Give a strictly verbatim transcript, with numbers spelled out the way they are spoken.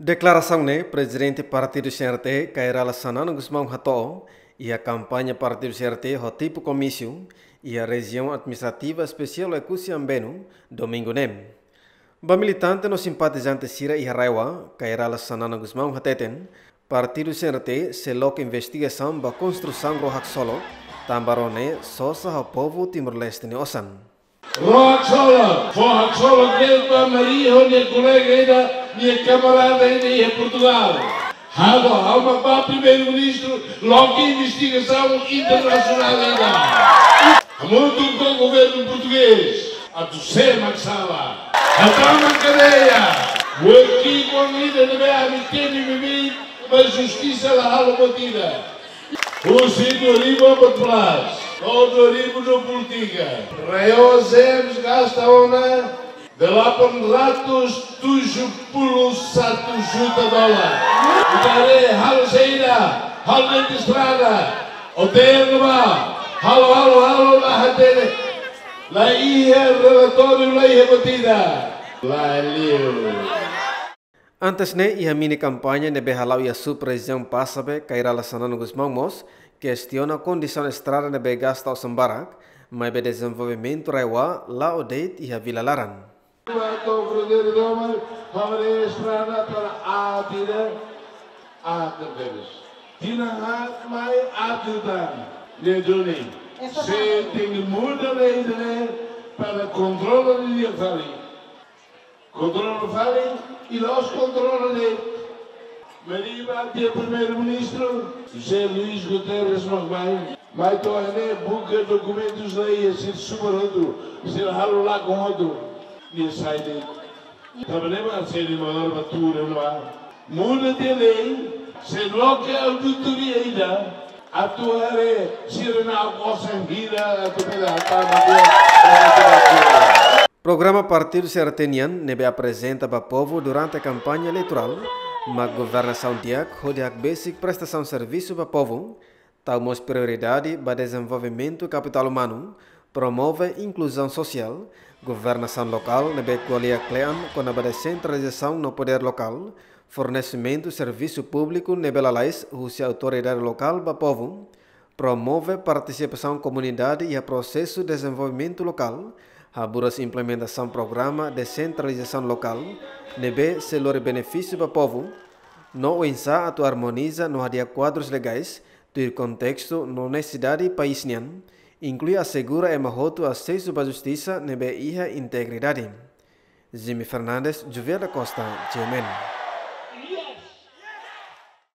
Deklarasaun ne'e Prezidente Partidu C R T, Kay Rala Xanana Gusmão hato'o iha kampaña Partidu C R T ho tipu komísiu iha Rejiaun Administrativa Espesiál Oekusi Ambenu, domingu ne'e. Ba militante no simpatizante sira iha RAEOA, Kay Rala Xanana Gusmão hateten, Partidu C R T sei loke investigasaun ba konstrusaun ró haksolok, tanba ró ne'e sosa ho povu Timor-Leste nia osan. Ró haksolok, fó haksolok de'it ba Mari ho nia kolega ida, nia kamarada ida iha Portugal. Ha'u, ha'u mak ba Primeiru-Ministru, loke investigasaun internasionál ida. Hamutuk ho governu portugés, atu sé mak sala. Hatama kadeia, buat ki'ik ida ne'ebé ami temi beibeik, mas justisa la halo buat ida. Husi dua ribu empat belas to'o dua ribu dua puluh tiga, RAEOA Zems gasta ona delapan ratus tujuh puluh satu juta dolar. Ita haree halo saida, halo de'it estrada, hotel ba, halo, halo, halo, la hatene, la iha relatóriu, la iha buat ida, la liu. Antes ne'e, iha mini kampaña ne'ebé hala'o iha sub-rejiaun Passabe, Kay Rala Xanana Gusmão mós kestiona kondisaun estrada ne'ebé gasta osan barak, maibé dezenvolvimentu RAEOA la'o de'it iha Vila Laran. To'o Fronteira Doma, ha'u haree estrada para aat ida, aat tebes. Tinan haat mai aat liután, ne'e duni. Se tenke muda lei ida-ne'e para kontrola didi'ak fali. Kontrola fali, i la'ós kontrola de'it. Mari ba tiha Primeiru-Ministru, José Luís Guterres mak mai. Mai to'o ne'e buka dokumentus la iha, sira subar hotu, sira halo lakon hotu. Nia sai de'it. Tanba ne'e mak sira maior ba tuur no ar. Muda tiha lei, sei loke auditoria ida, atu haree sira-nia osan hira atu bele hatama buat. Programa Partidu C R T nian ne'ebé aprezenta ba povu durante kampaña eleitorál, mak governasaun di'ak hodi hakbesik prestasaun servisu ba povu, tau mós prioridade ba dezenvolvimentu kapitál umanu, promove inkluzaun sosiál, governasaun lokál ne'ebé ko'alia kle'an kona-ba desentralizasaun no podér lokál, fornesimentu servisu públiku ne'ebé lalais husi autoridade lokál ba povu, promove partisipasaun komunidade iha prosesu dezenvolvimentu lokál, haburas implementasaun programa desentralizasaun lokál ne'ebé sei lori benefísiu ba povu, no oinsá atu armoniza no hadi'a kuadrus legais tuir kontestu no nesesidade país nian, inklui asegura ema hotu asesu ba justisa ne'ebé iha integridade. Jimmy Fernandes, Juvier da Costa, G M N.